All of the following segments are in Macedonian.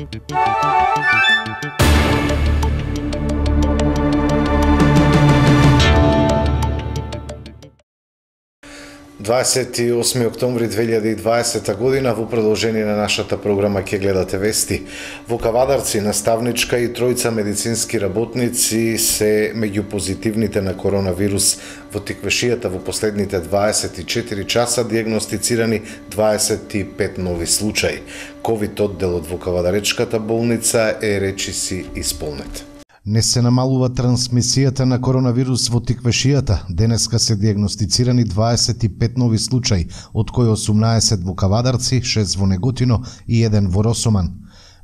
...28 октомври 2020 година, во продолжение на нашата програма ќе гледате вести. Во Кавадарци наставничка и тројца медицински работници се меѓу позитивните на коронавирус. Во Тиквешијата во последните 24 часа диагностицирани 25 нови случаи. ковид одделот во Кавадаречката болница е речиси исполнет. Не се намалува трансмисијата на коронавирус во Тиквешијата. Денеска се диагностицирани 25 нови случаи, од кои 18 во Кавадарци, 6 во Неготино и 1 во Росоман.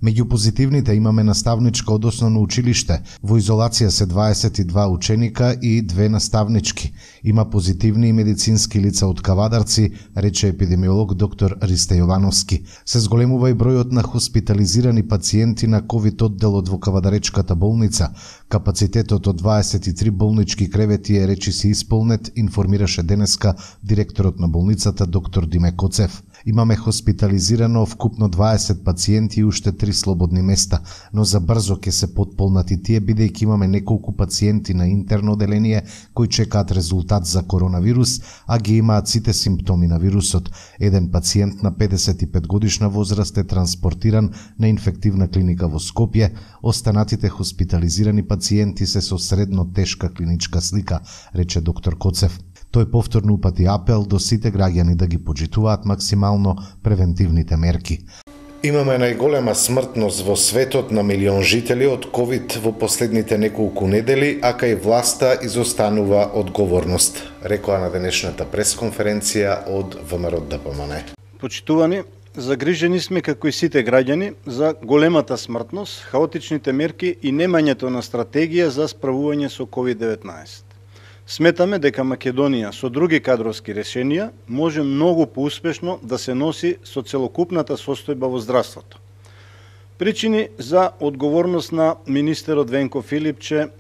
Меѓу позитивните имаме наставничка од основно училиште. Во изолација се 22 ученика и 2 наставнички. Има позитивни и медицински лица од Кавадарци, рече епидемиолог доктор Ристе Јовановски. Се зголемува и бројот на хоспитализирани пациенти на ковид одделот во Кавадаречката болница. Капацитетот од 23 болнички кревети е речиси исполнет, информираше денеска директорот на болницата доктор Диме Коцев. Имаме хоспитализирано вкупно 20 пациенти и уште 3 слободни места, но за брзо ќе се потполнати тие бидејќи имаме неколку пациенти на интерно оделение кои чекаат резултат за коронавирус, а ги имаат сите симптоми на вирусот. Еден пациент на 55 годишна возраст е транспортиран на инфективна клиника во Скопје, останатите хоспитализирани пациенти се со средно тешка клиничка слика, рече доктор Коцев. Тој повторно упати апел до сите граѓани да ги почитуваат максимално превентивните мерки. Имаме најголема смртност во светот на милион жители од ковид во последните неколку недели, а кај власта изостанува одговорност, рекоа на денешната пресконференција од ВМРО-ДПМН. Почитувани, загрижени сме како и сите граѓани за големата смртност, хаотичните мерки и немањето на стратегија за справување со COVID-19. Сметаме дека Македонија со други кадровски решенија може многу поуспешно да се носи со целокупната состојба во здравството. Причини за одговорност на министерот Венко Филипче,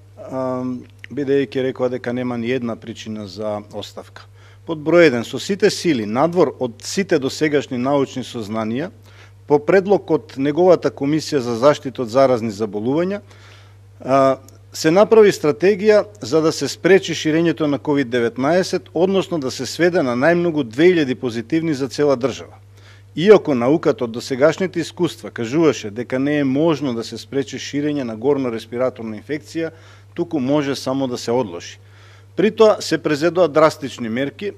бидејќи рекоа дека нема ни една причина за оставка. Под број 1, со сите сили, надвор од сите досегашни научни сознанија, по предлог од неговата комисија за заштита од заразни заболувања, се направи стратегија за да се спречи ширењето на COVID-19, односно да се сведе на најмногу 2000 позитивни за цела држава. Иако науката од досегашните искуства кажуваше дека не е можно да се спречи ширење на горно-респираторна инфекција, туку може само да се одложи. При тоа се презедоа драстични мерки,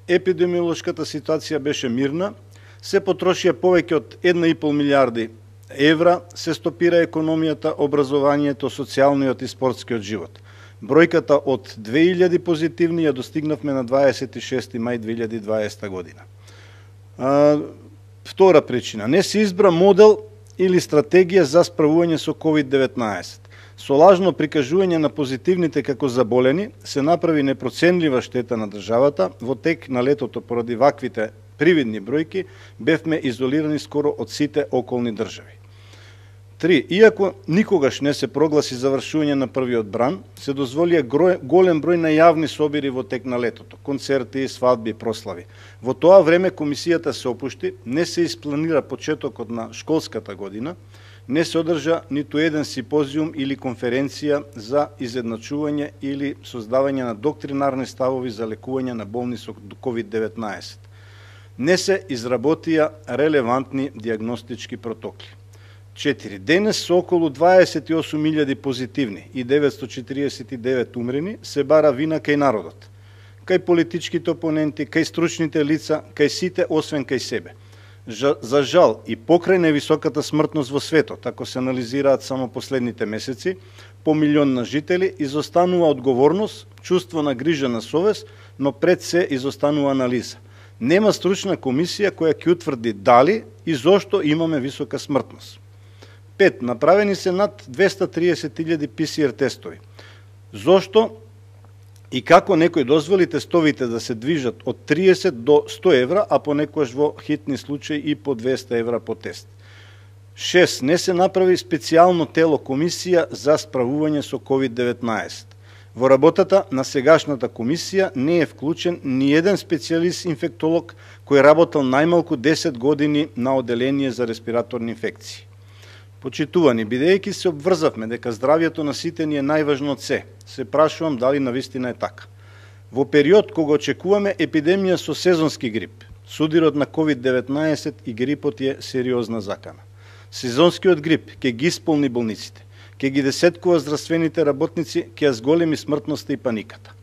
епидемиолошката ситуација беше мирна, се потрошија повеќе од 1,5 милиарди евра, се стопира економијата, образованието, социјалниот и спортскиот живот. Бројката од 2000 позитивни ја достигнавме на 26 мај 2020 година. Втора причина, не се избра модел или стратегија за справување со COVID-19. Со лажно прикажување на позитивните како заболени се направи непроценлива штета на државата. Во тек на летото поради ваквите привидни бројки бевме изолирани скоро од сите околни држави. 3. Иако никогаш не се прогласи завршување на првиот бран, се дозволија голем број на јавни собири во тек на летото, концерти, свадби, прослави. Во тоа време комисијата се опушти, не се испланира почетокот на школската година, не се одржа ниту еден симпозиум или конференција за изедначување или создавање на доктринарни ставови за лекување на болни со COVID-19. Не се изработија релевантни диагностички протоколи. 4. Денес со околу 28.000 позитивни и 949 умрени се бара вина кај народот, кај политичките опоненти, кај стручните лица, кај сите освен кај себе. За жал и покрај невисоката смртност во светот, ако се анализираат само последните месеци, по милион на жители, изостанува одговорност, чувство на грижа на совест, но пред се изостанува анализа. Нема стручна комисија која ќе утврди дали и зошто имаме висока смртност. 5. Направени се над 230.000 PCR тестови. Зошто и како некој дозволи тестовите да се движат од 30 до 100 евра, а понекогаш во хитни случаи и по 200 евра по тест. 6. Не се направи специјално тело комисија за справување со COVID-19. Во работата на сегашната комисија не е вклучен ни еден специјалист инфектолог кој работел најмалку 10 години на оделение за респираторни инфекции. Почитувани, бидејќи се обврзавме дека здравјето на сите ни е најважно од се прашувам дали навистина е така. Во период кога очекуваме епидемија со сезонски грип, судирот на COVID-19 и грипот е сериозна закана. Сезонскиот грип ќе ги исполни болниците, ќе ги десеткува здравствените работници, ќе ја зголеми смртноста и паниката.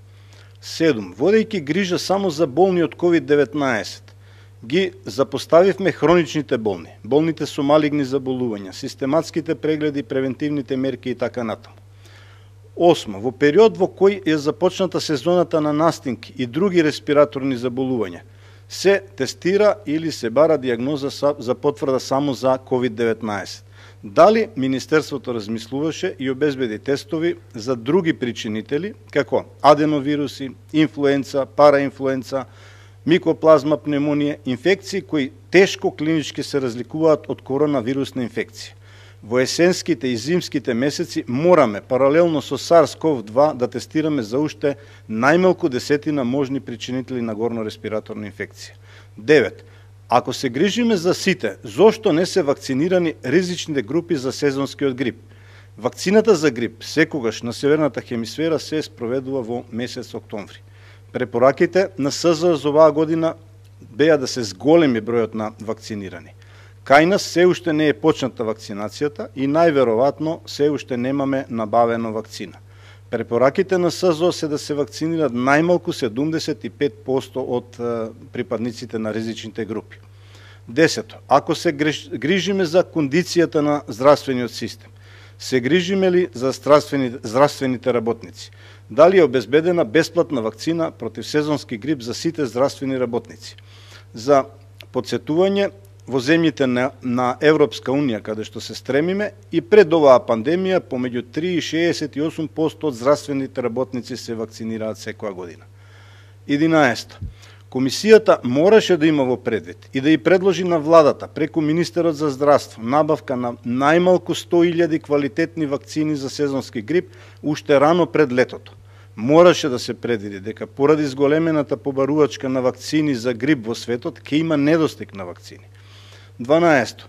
7. Водејќи грижа само за болни од COVID-19, ги запоставивме хроничните болни, болните со малигни заболувања, систематските прегледи, превентивните мерки и така натаму. 8. Во период во кој е започната сезоната на настинки и други респираторни заболувања, се тестира или се бара диагноза за потврда само за COVID-19. Дали Министерството размислуваше и обезбеди тестови за други причинители, како аденовируси, инфлуенца, параинфлуенца, микоплазма, пневмонија, инфекции кои тешко клинички се разликуваат од коронавирусна инфекција. Во есенските и зимските месеци мораме паралелно со SARS-CoV-2 да тестираме за уште најмалку 10 можни причинители на горно-респираторна инфекција. 9. Ако се грижиме за сите, зошто не се вакцинирани ризичните групи за сезонскиот грип? Вакцината за грип секогаш на северната хемисфера се спроведува во месец октомври. Препораките на СЗО за оваа година беа да се зголеми бројот на вакцинирани. Кај нас се уште не е почната вакцинацијата и најверојатно се уште немаме набавено вакцина. Препораките на СЗО се да се вакцинират најмалку 75% од припадниците на ризичните групи. 10. Ако се грижиме за кондицијата на здравствениот систем, се грижиме ли за здравствените работници? Дали е обезбедена бесплатна вакцина против сезонски грип за сите здравствени работници? За подсетување, во земјите на Европска Унија, каде што се стремиме, и пред оваа пандемија, помеѓу 3 и 68% од здравствените работници се вакцинираат секоја година. 11. Комисијата мораше да има во предвид и да ја предложи на владата, преку Министерот за здравство, набавка на најмалку 100.000 квалитетни вакцини за сезонски грип, уште рано пред летото. Мораше да се предвиди дека поради зголемената побарувачка на вакцини за грип во светот, ќе има недостиг на вакцини. 12.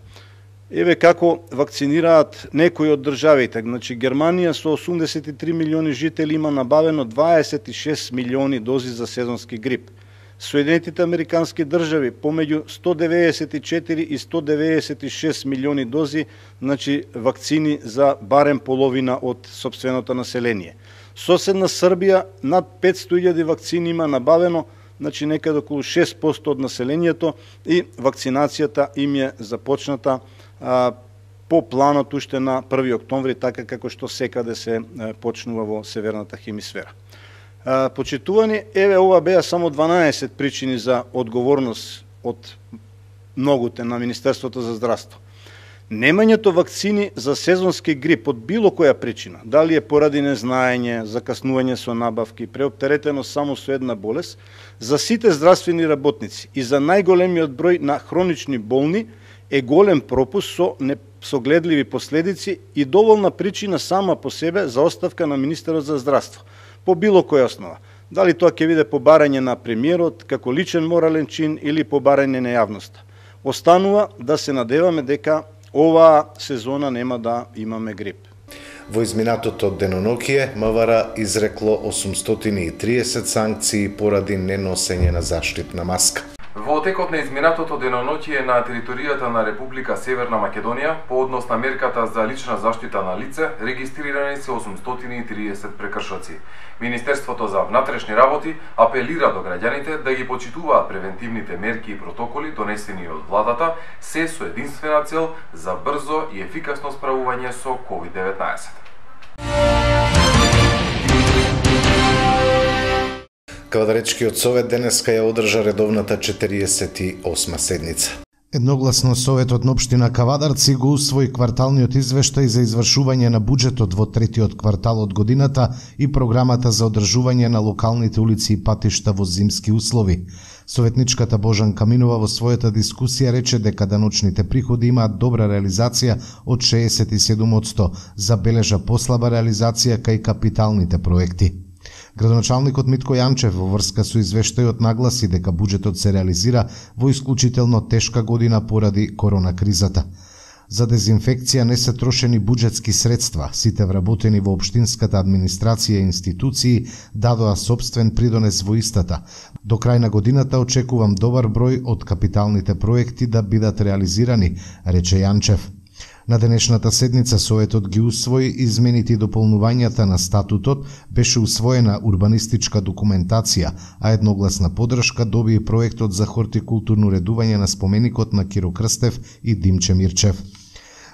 Еве како вакцинираат некои од државите. Значи, Германија со 83 милиони жители има набавено 26 милиони дози за сезонски грип. Соединетите Американски држави помеѓу 194 и 196 милиони дози, значи вакцини за барем половина од сопственото население. Соседна Србија над 500.000 вакцини има набавено, значи некаде околу 6% од населението, и вакцинацијата им е започната по планот уште на 1 октомври, така како што секаде се почнува во северната хемисфера. Почитувани, еве ова беа само 12 причини за одговорност од многуте на Министерството за здравство. Немањето вакцини за сезонски грип од било која причина, дали е поради незнаење, закаснување со набавки, преоптеретено само со една болест, за сите здравствени работници и за најголемиот број на хронични болни е голем пропуст со несогледливи последици и доволна причина сама по себе за оставка на Министерот за здравство, по било која основа. Дали тоа ќе биде побарање на премиерот како личен морален чин или побарање на јавноста. Останува да се надеваме дека оваа сезона нема да имаме грип. Во изминатото денонокие МВР изрекло 830 санкции поради неносење на заштитна маска. Во текот на изминатото деноноќие на територијата на Република Северна Македонија, по однос на мерката за лична заштита на лице, регистрирани се 830 прекршоци. Министерството за внатрешни работи апелира до граѓаните да ги почитуваат превентивните мерки и протоколи донесени од владата, се со единствена цел за брзо и ефикасно справување со COVID-19. Кавадаречкиот совет денеска ја одржа редовната 48 седница. Едногласно Советот на општина Кавадарци го усвои кварталниот извештај за извршување на буџетот во третиот квартал од годината и програмата за одржување на локалните улици и патишта во зимски услови. Советничката Божанка Минова во својата дискусија рече дека даночните приходи имаат добра реализација од 67%, забележа послаба реализација кај капиталните проекти. Градоначалникот Митко Јанчев во врска со извештајот нагласи дека буџетот се реализира во исклучително тешка година поради корона кризата. За дезинфекција не се трошени буџетски средства. Сите вработени во општинската администрација и институции дадоа собствен придонес во истата. До крај на годината очекувам добар број од капиталните проекти да бидат реализирани, рече Јанчев. На денешната седница Советот ги усвои измените и дополнувањата на статутот, беше усвоена урбанистичка документација, а едногласна поддршка доби и проектот за хортикултурно уредување на споменикот на Киро Крстев и Димче Мирчев.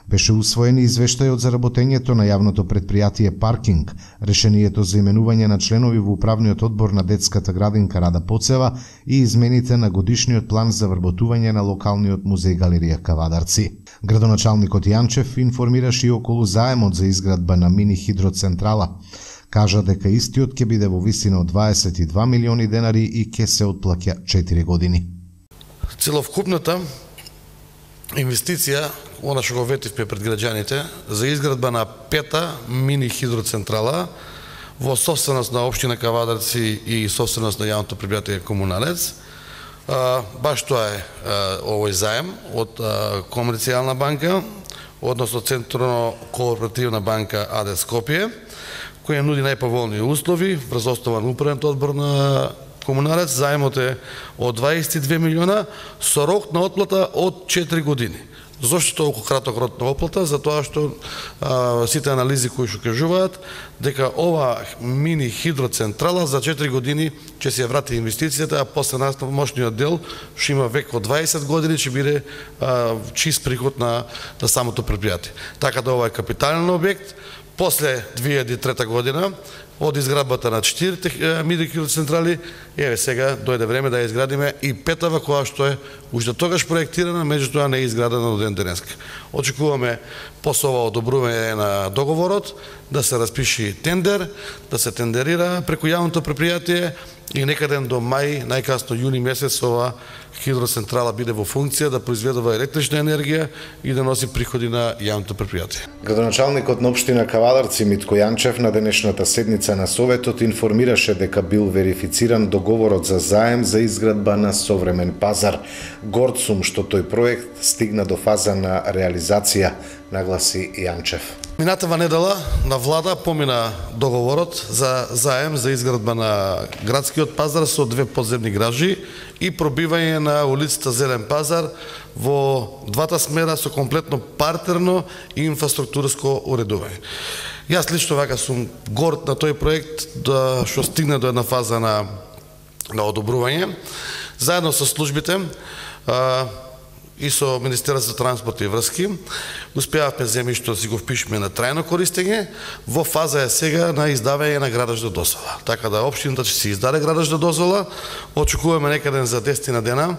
Беше усвоен и извештајот за работењето на јавното предпријатие Паркинг, решението за именување на членови во управниот одбор на детската градинка Рада Поцева и измените на годишниот план за вработување на локалниот музеј галерија Кавадарци. Градоначалникот Јанчев информираше и околу заемот за изградба на мини хидроцентрала. Кажа дека истиот ќе биде во висина од 22 милиони денари и ќе се отплаќа 4 години. Целокупната инвестиција, она што го ветивме пред граѓаните, за изградба на 5-та мини хидроцентрала во собственост на општина Кавадарци и собственост на јавното предпријатие Комуналец. Баш тоа е овој заем од Комерцијална банка, односно Централно кооперативна банка АД Скопје, која нуди најповолни услови врз основа на управниот одбор на Комуналец. Заемот е од 22 милиона со рок на отплата од 4 години. Зошто толку краток рок на отплата? Затоа што сите анализи кои што кажуваат дека ова мини хидроцентрала за 4 години ќе се врати инвестицијата, а после мощниот дел што има век од 20 години ќе биде чист приход на самото предпријатие. Така да ова е капитален објект. После 2003 година, од изградбата на 4 мини хидроцентрали, еве сега дојде време да ја изградиме и 5-та, која што е уште тогаш проектирана, меѓутоа не е изградена до ден денеска. Очекуваме после ова одобрување на договорот да се распиши тендер, да се тендерира преку јавното предпријатие и некаде до мај, најкасно јуни месец, ова хидроцентрала биде во функција да произведува електрична енергија и да носи приходи на јавното предпријатие. Градоначалникот на општина Кавадарци Митко Јанчев на денешната седница на Советот информираше дека бил верифициран договорот за заем за изградба на современ пазар. Горд сум што тој проект стигна до фаза на реализација, нагласи Јанчев. Минатава недела на влада помина договорот за заем за изградба на градскиот пазар со 2 подземни гражи и пробивање на улицата Зелен пазар во двата смера со комплетно партерно и инфраструктурско уредување. Јас лично вака сум горд на тој проект да што стигна до една фаза на одобрување. Заедно со службите и со Министерството за транспорт и врски успеавме земјишто да си го впишеме на трајно користење. Во фаза е сега на издавање на градажна дозвола. Така да општината ќе се издаде градажна дозвола. Очекуваме некаде за 10 дена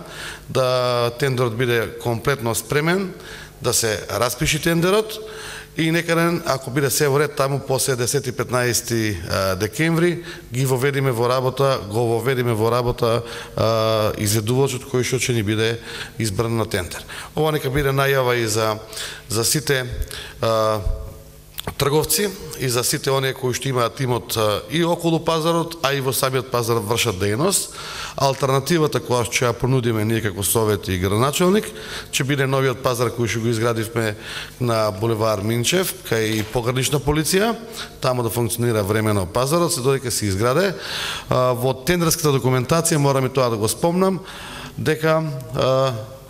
да тендерот биде комплетно спремен, да се распиши тендерот и некаде, ако биде се во ред, таму после 10-15 декември го воведиме во работа изведувачот кој што ќе ни биде избран на тендер. Ова нека биде најава и за сите трговци и за сите оние кои што имаат имот и околу пазарот, а и во самиот пазар вршат дејност. Алтернативата која ќе ја понудиме ние како Совет и градоначалник ќе биде новиот пазар кој што го изградивме на булевар Минчев, кај погранична полиција, таму да функционира времено пазарот, се додека се изграде. Во тендерската документација морам и тоа да го спомнам дека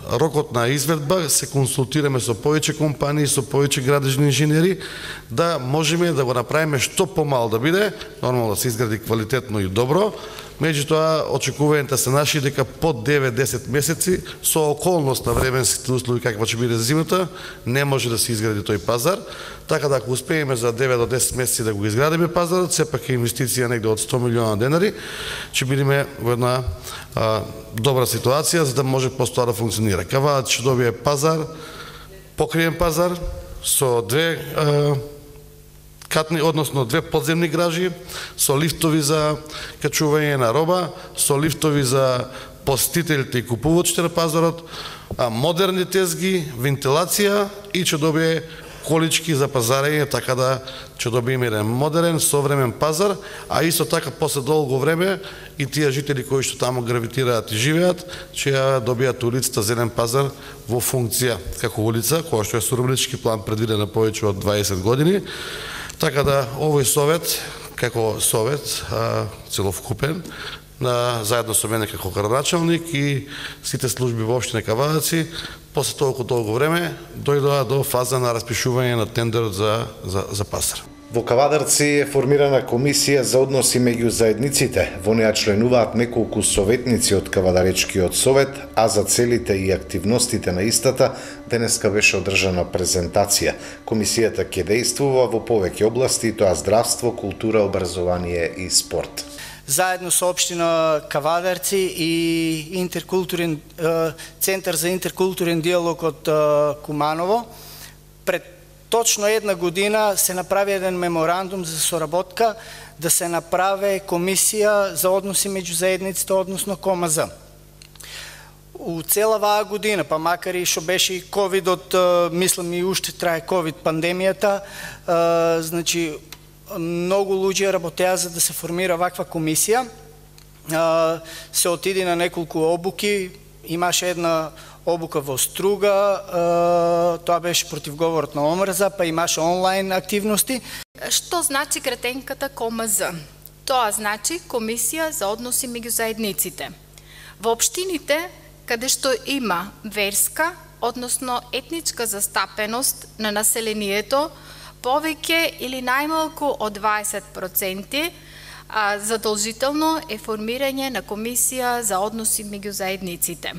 рокот на изведба се консултираме со повеќе компании, со повеќе градежни инженери, да можеме да го направиме што помал да биде, нормално да се изгради квалитетно и добро. Меѓутоа, очекувањата се наши дека под 9-10 месеци, со околност на временските услови каква ќе биде зимата, не може да се изгради тој пазар. Така да ако успееме за 9 до 10 месеци да го изградиме пазарот, сепак е инвестиција негде од 100 милиона денари, ќе бидеме во една добра ситуација за да може постоа да функционира. Кавадарци ќе добие пазар, покриен пазар со 2 катни, односно 2 подземни гражи, со лифтови за качување на роба, со лифтови за посетителите и купувачите на пазарот, модерни тезги, вентилација и ќе добие колички за пазарење, така да ќе добиеме еден модерен, современ пазар, а исто така после долго време и тие жители кои што таму гравитираат и живеат, ќе ја добијат улицата Зелен пазар во функција како улица, која што е со урбанистички план предвидена повеќе од 20 години. Така да овој совет, како совет целокупен, заедно со мене како градоначалник и сите служби во општина Кавадарци, после толку време дојдоа до фаза на распишување на тендерот за пазар. Во Кавадарци е формирана комисија за односи меѓу заедниците. Во неа членуваат неколку советници од Кавадаречкиот совет, а за целите и активностите на истата денеска беше одржана презентација. Комисијата ќе действува во повеќе области, тоа здравство, култура, образование и спорт. Заедно со општина Кавадарци и Центар за интеркултурен диалог од Куманово, пред точно една година се направи еден меморандум за соработка да се направи комисија за односи меѓу заедниците, односно КОМАЗ. У цела оваа година, па макар и што беше и ковидот, мислам и уште трае ковид пандемијата, значи многу луѓе работеа за да се формира ваква комисија. Се отиде на неколку обуки, имаше една обука во Струга, тоа беше против говорот на омрза, па имаше онлайн активности. Што значи кратенката КОМАЗ? Тоа значи Комисија за односи меѓу заедниците. Во општините, каде што има верска, односно етничка застапеност на населението, повеќе или најмалку од 20%, задолжително е формирање на Комисија за односи меѓу заедниците.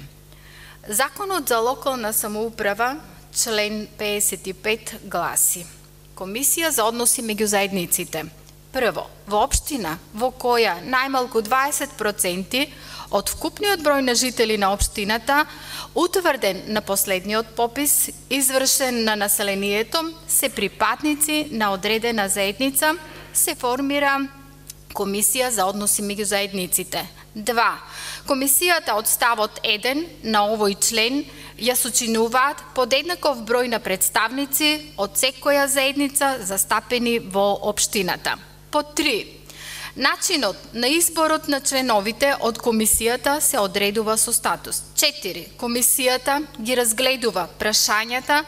Законот за локална самоуправа, член 55 гласи: Комисија за односи меѓу заедниците. Прво, во општина во која најмалку 20% од вкупниот број на жители на општината, утврден на последниот попис, извршен на населението, се припадници на одредена заедница, се формира Комисија за односи меѓу заедниците. 2. Комисијата од ставот 1 на овој член ја сочинуваат подеднаков број на представници од секоја заедница застапени во општината. По 3. Начинот на изборот на членовите од комисијата се одредува со статус. 4. Комисијата ги разгледува прашањата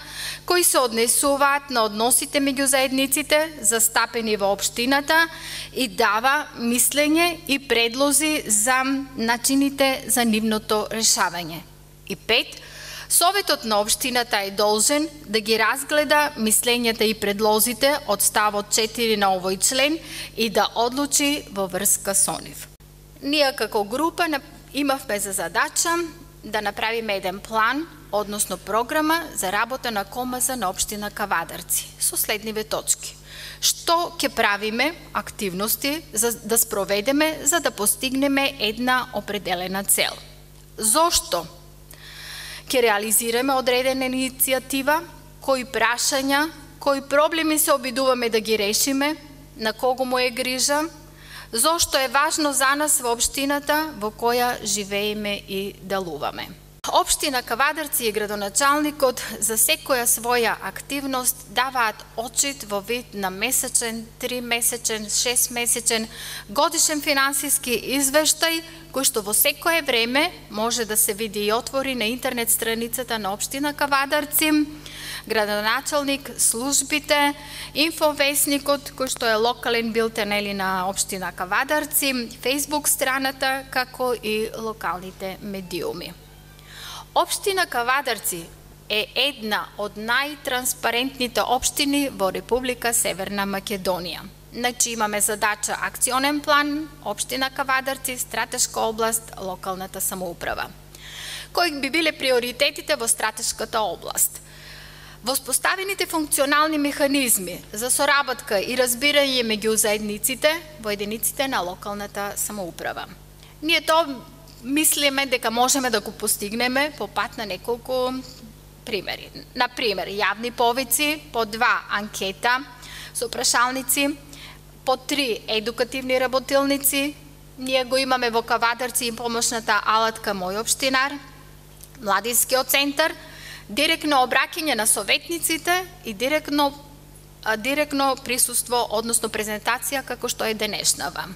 кои се однесуваат на односите меѓу заедниците застапени во општината и дава мислење и предлози за начините за нивното решавање. И 5. Советот на општината е должен да ги разгледа мислењата и предлозите од ставот 4 на овој член и да одлучи во врска со нив. Ние како група имавме за задача да направиме еден план, односно програма за работа на КОМАЗ на општина Кавадарци со следниве точки. Што ќе правиме активности за да спроведеме за да постигнеме една определена цел? Зошто ќе реализираме одредена иницијатива, кои прашања, кои проблеми се обидуваме да ги решиме, на кого му е грижа, зошто е важно за нас во општината во која живееме и делуваме. Општина Кавадарци и градоначалникот за секоја своја активност даваат отчит во вид на месечен, 3-месечен, 6-месечен, годишен финансиски извештај, кој што во секое време може да се види и отвори на интернет страницата на општина Кавадарци, градоначалник, службите, инфовесникот, кој што е локален билтен на општина Кавадарци, фейсбук страната, како и локалните медиуми. Општина Кавадарци е една од најтранспарентните општини во Република Северна Македонија. Значи имаме задача акционен план, општина Кавадарци, стратешка област, локалната самоуправа. Кои би биле приоритетите во стратешката област? Воспоставените функционални механизми за соработка и разбирање меѓу заедниците во единиците на локалната самоуправа. Ние тоа мислиме дека можеме да го постигнеме по пат на неколку примери. Например, јавни повици, по 2 анкета со прашалници, по 3 едукативни работилници, ние го имаме во Кавадарци и помошната алатка Мој општинар, младинскиот центар, директно обраќање на советниците и директно присуство, односно презентација како што е денешнава.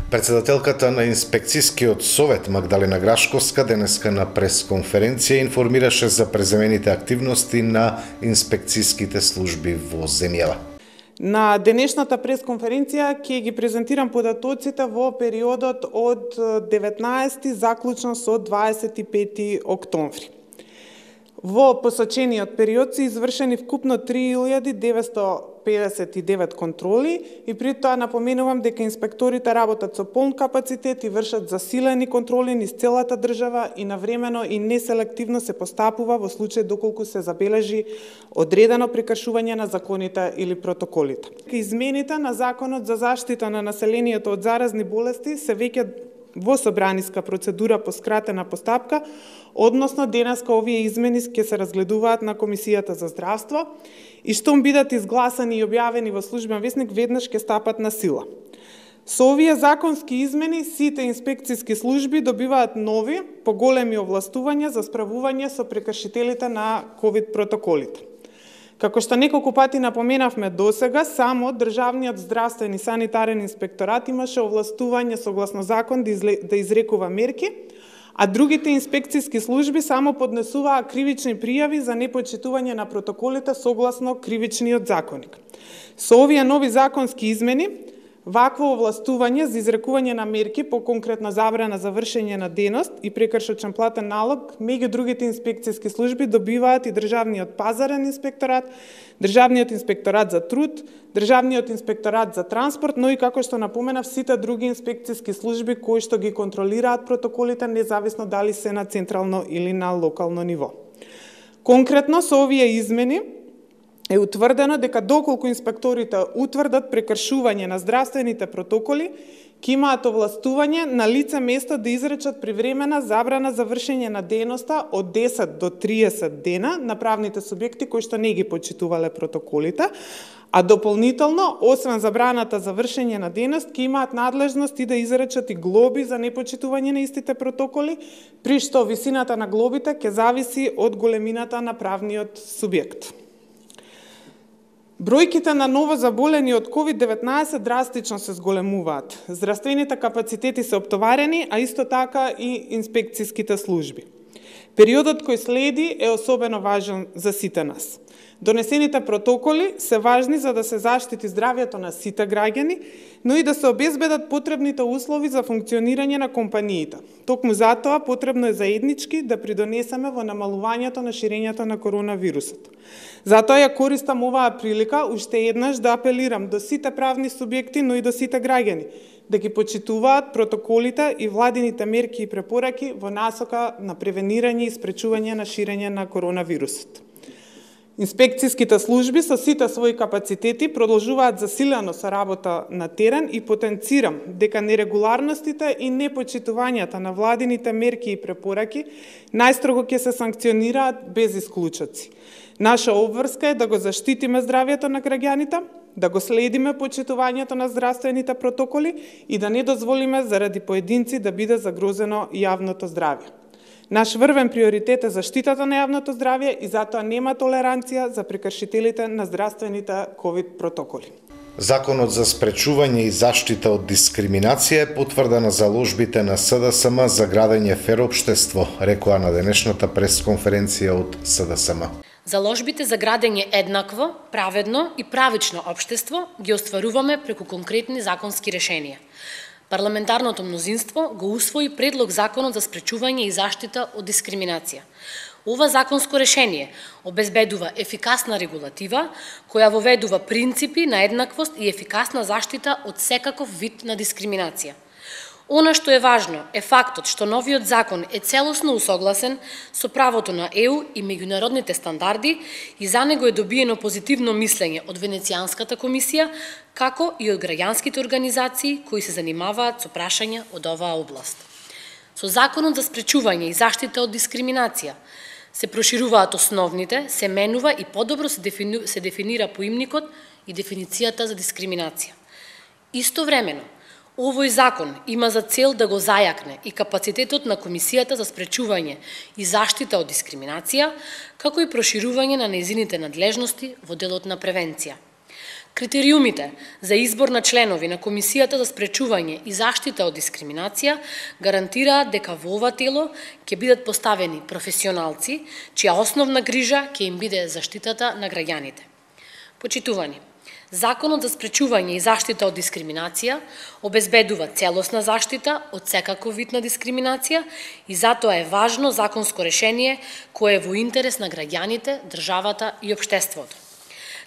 Председателката на Инспекцијскиот совет Магдалена Грашковска денеска на пресконференција информираше за преземените активности на инспекцијските служби во земјава. На денешната пресконференција ќе ги презентирам податоците во периодот од 19 заклучно со 25 октомври. Во посочениот период се извршени вкупно 3959 контроли и при тоа напоменувам дека инспекторите работат со полн капацитет и вршат засилени контроли низ целата држава и навремено и неселективно се постапува во случај доколку се забележи одредено прекршување на законите или протоколите. Измените на Законот за заштита на населението од заразни болести се веќе во собраниска процедура по скратена постапка, односно денеска овие измени ќе се разгледуваат на Комисијата за здравство и штом бидат изгласани и објавени во службен весник, веднаш ќе стапат на сила. Со овие законски измени, сите инспекцијски служби добиваат нови, поголеми овластувања за справување со прекршителите на ковид протоколите. Како што неколку пати напоменавме досега, само Државниот здравствен и санитарен инспекторат имаше овластување согласно закон да изрекува мерки, а другите инспекцијски служби само поднесуваа кривични пријави за непочитување на протоколите согласно кривичниот законник. Со овие нови законски измени, вакво овластување за изрекување на мерки по конкретна забрана за вршење на дејност и прекршочен платен налог меѓу другите инспекцијски служби добиваат и Државниот пазарен инспекторат, Државниот инспекторат за труд, Државниот инспекторат за транспорт, но и како што напоменав сите други инспекцијски служби кои што ги контролираат протоколите независно дали се на централно или на локално ниво. Конкретно со овие измени е утврдено дека доколку инспекторите утврдат прекршување на здравствените протоколи, ќе имаат овластување на лице место да изречат привремена забрана за вршење на дејноста од 10 до 30 дена на правните субјекти кои што не ги почитувале протоколите, а дополнително, освен забраната за вршење на дејност, ќе имаат надлежност и да изречат и глоби за непочитување на истите протоколи, при што висината на глобите ќе зависи од големината на правниот субјект. Бројките на ново заболени од COVID-19 драстично се зголемуваат. Здравствените капацитети се оптоварени, а исто така и инспекцијските служби. Периодот кој следи е особено важен за сите нас. Донесените протоколи се важни за да се заштити здравјето на сите граѓани, но и да се обезбедат потребните услови за функционирање на компаниите. Токму затоа потребно е заеднички да придонесеме во намалувањето на ширењето на коронавирусот. Затоа ја користам оваа прилика уште еднаш да апелирам до сите правни субјекти, но и до сите граѓани, да ги почитуваат протоколите и владините мерки и препораки во насока на превенирање и спречување на ширење на коронавирусот. Инспекцијските служби со сите своји капацитети продолжуваат засилено со работа на терен и потенцирам дека нерегуларностите и непочитувањата на владините мерки и препораки најстрого ќе се санкционираат без исклучоци. Наша обврска е да го заштитиме здравјето на граѓаните, да го следиме почитувањето на здравствените протоколи и да не дозволиме заради поединци да биде загрозено јавното здравје. Наш врвен приоритет е заштитата на јавното здравје и затоа нема толеранција за прекршителите на здравствените ковид протоколи. Законот за спречување и заштита од дискриминација е потврда на заложбите на СДСМ за градење фер општество, рекоа на денешната пресконференција од СДСМ. Заложбите за градење еднакво, праведно и правично општество ги остваруваме преку конкретни законски решенија. Парламентарното мнозинство го усвои предлог Законот за спречување и заштита од дискриминација. Ова законско решение обезбедува ефикасна регулатива, која воведува принципи на еднаквост и ефикасна заштита од секаков вид на дискриминација. Она што е важно е фактот што новиот закон е целосно усогласен со правото на ЕУ и меѓународните стандарди и за него е добиено позитивно мислење од Венецијанската комисија, како и од граѓанските организации кои се занимаваат со прашања од оваа област. Со Законот за спречување и заштита од дискриминација се прошируваат основните, се менува и подобро се дефинира поимникот и дефиницијата за дискриминација. Истовремено, овој закон има за цел да го зајакне и капацитетот на Комисијата за спречување и заштита од дискриминација, како и проширување на нејзините надлежности во делот на превенција. Критериумите за избор на членови на Комисијата за спречување и заштита од дискриминација гарантираат дека во ова тело ќе бидат поставени професионалци, чија основна грижа ќе им биде заштитата на граѓаните. Почитувани, Законот за спречување и заштита од дискриминација обезбедува целосна заштита од секаков вид на дискриминација и затоа е важно законско решение кое е во интерес на граѓаните, државата и општеството.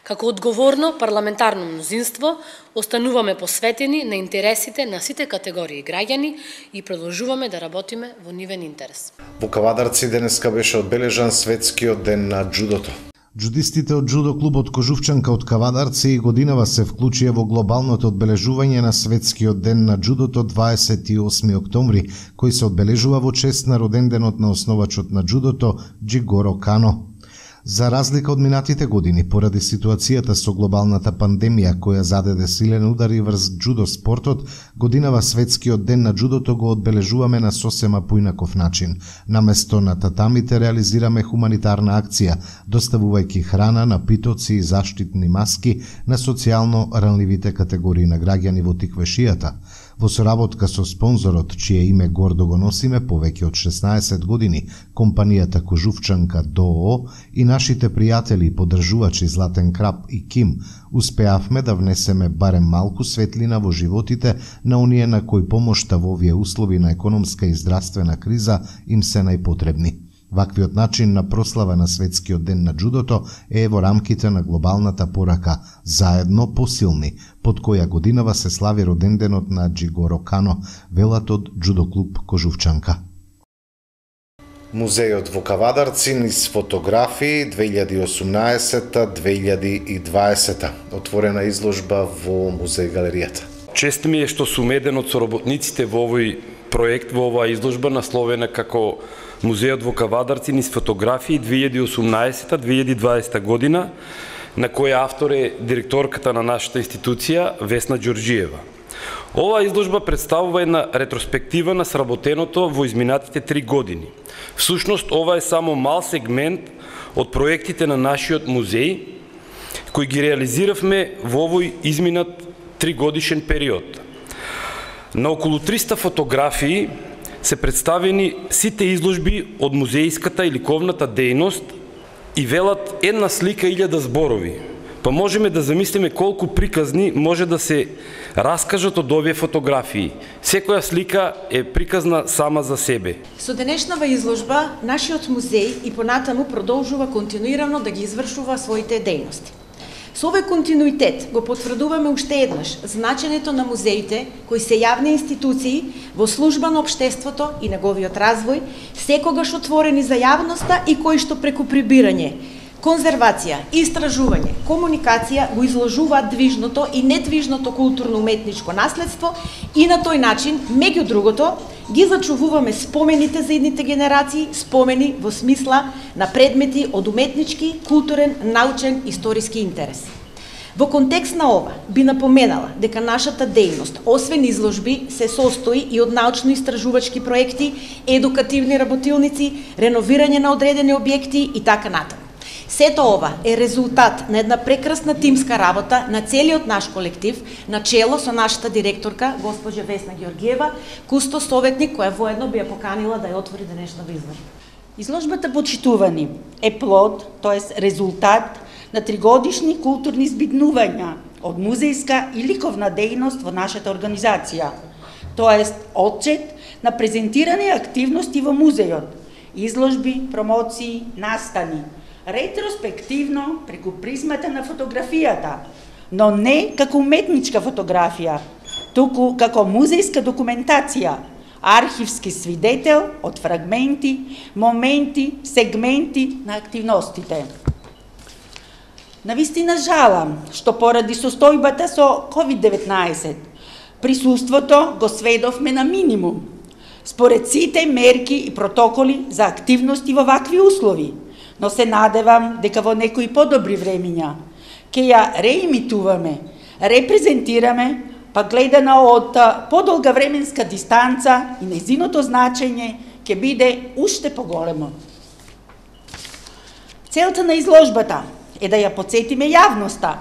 Како одговорно парламентарно мнозинство, остануваме посветени на интересите на сите категории граѓани и продолжуваме да работиме во нивен интерес. Во Кавадарци денеска беше одбележан светскиот ден на џудото. Џудистите од џудо клубот Кожувчанка од Кавадарци и годинава се вклучија во глобалното одбележување на светскиот ден на џудото 28 октомври, кој се одбележува во чест на роденденот на основачот на џудото Џигоро Кано. За разлика од минатите години, поради ситуацијата со глобалната пандемија која зададе силен удари врз џудо спортот, годинава светскиот ден на џудото го одбележуваме на сосема поинаков начин. Наместо на татамите реализираме хуманитарна акција, доставувајќи храна, напитоци и заштитни маски на социјално ранливите категории на граѓани во Тиквешијата. Во соработка со спонзорот, чие име гордо го носиме повеќе од 16 години, компанијата Кожувчанка ДОО и нашите пријатели и поддржувачи Златен Крап и Ким, успеавме да внесеме барем малку светлина во животите на оние на кои помошта во овие услови на економска и здравствена криза им се најпотребни. Ваквиот начин на прослава на светскиот ден на џудото е во рамките на глобалната порака "Заедно посилни", под која годинава се слави роденденот на Џигоро Кано, велат од џудо клуб Кожувчанка. Музејот во Кавадарци низ фотографии 2018-2020. Отворена изложба во музеј галеријата. Чест ми е што сум еден од соработниците во овој проект, во оваа изложба насловена како Музејот во Кавадарци низ фотографии 2018-2020 година, на која автор е директорката на нашата институција Весна Ѓорџиева. Оваа изложба представува една ретроспектива на сработеното во изминатите 3 години. Всушност, ова е само мал сегмент од проектите на нашиот музеј, кои ги реализиравме во овој изминат 3-годишен период. На околу 300 фотографии се представени сите изложби од музејската и ликовната дејност и велат една слика 1000 зборови. Па можеме да замислиме колку приказни може да се раскажат од овие фотографии. Секоја слика е приказна сама за себе. Со денешнава изложба, нашиот музеј и понатаму продолжува континуирано да ги извршува своите дејности. Со овој континуитет го потврдуваме уште еднаш значењето на музеите, кои се јавни институции во служба на општеството и неговиот развој, секогаш отворени за јавноста и кои што преку прибирање, конзервација, истражување, комуникација го изложуваат движното и недвижното културно-уметничко наследство и на тој начин, меѓу другото, ги зачувуваме спомените за идните генерации, спомени во смисла на предмети од уметнички, културен, научен, историски интерес. Во контекст на ова, би напоменала дека нашата дејност, освен изложби, се состои и од научно-истражувачки проекти, едукативни работилници, реновирање на одредени објекти и така натаму. Сето ова е резултат на една прекрасна тимска работа на целиот наш колектив, начело со нашата директорка, госпоѓа Весна Ѓорѓиева, кусто советник, која воедно би ја поканила да ја отвори денешната изложба. Изложбата "Почитувани" е плод, тоест резултат на 3-годишни културни збиднувања од музејска и ликовна дејност во нашата организација, тоест отчет на презентирани активности во музејот, изложби, промоции, настани, ретроспективно преку призмата на фотографијата, но не како уметничка фотографија, туку како музејска документација, архивски свидетел од фрагменти, моменти, сегменти на активностите. Навистина жалам што поради состојбата со COVID-19 присуството го сведовме на минимум, според сите мерки и протоколи за активности во вакви услови, но се надевам дека во некои подобри времиња ќе ја реимитуваме, репрезентираме, па гледана од подолга временска дистанца и незиното значење ќе биде уште поголемо. Целта на изложбата е да ја потсетиме јавноста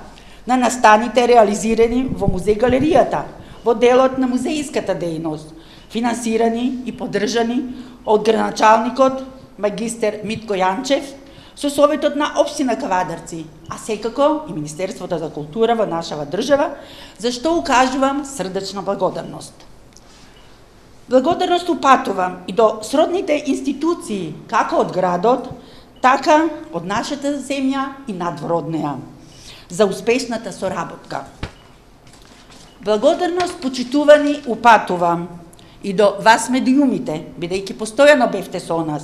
на настаните реализирани во музеј-галеријата, во делот на музејската дејност, финансирани и поддржани од градоначалникот магистер Митко Јанчев, со Советот на општина Кавадарци, а секако и Министерството за култура во нашава држава, за што укажувам срдечна благодарност. Благодарност упатувам и до сродните институции, како од градот, така од нашата земја и надвор од неа, за успешната соработка. Благодарност, почитувани, упатувам и до вас медиумите, бидејќи постојано бевте со нас,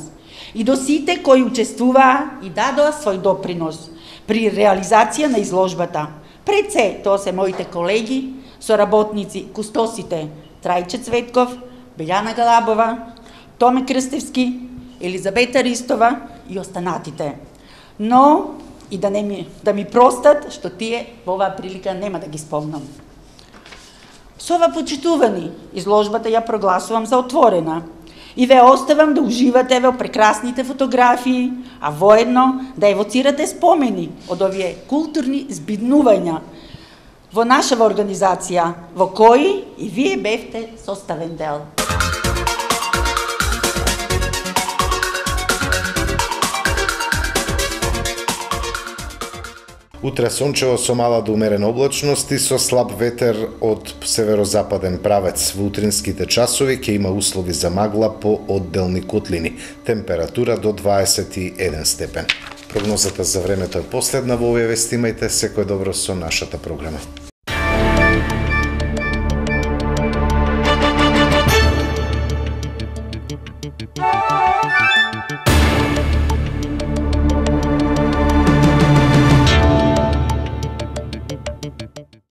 и до сите кои учествуваа и дадоа свој допринос при реализација на изложбата. Пред се, тоа се моите колеги, соработници, кустосите Трајче Цветков, Белјана Галабова, Томе Крстевски, Елизабета Ристова и останатите. Но и да ми простат што тие во оваа прилика нема да ги спомнам. Со ова, почитувани, изложбата ја прогласувам за отворена и ве оставам да уживате во прекрасните фотографии, а воедно да евоцирате спомени од овие културни збиднувања во нашава организација, во кои и вие бевте составен дел. Утре сончево со мала до умерена облачност и со слаб ветер од северозападен правец. Во утринските часови ќе има услови за магла по одделни котлини. Температура до 21 степен. Прогнозата за времето е последна во овие вести. Имајте секој добро со нашата програма.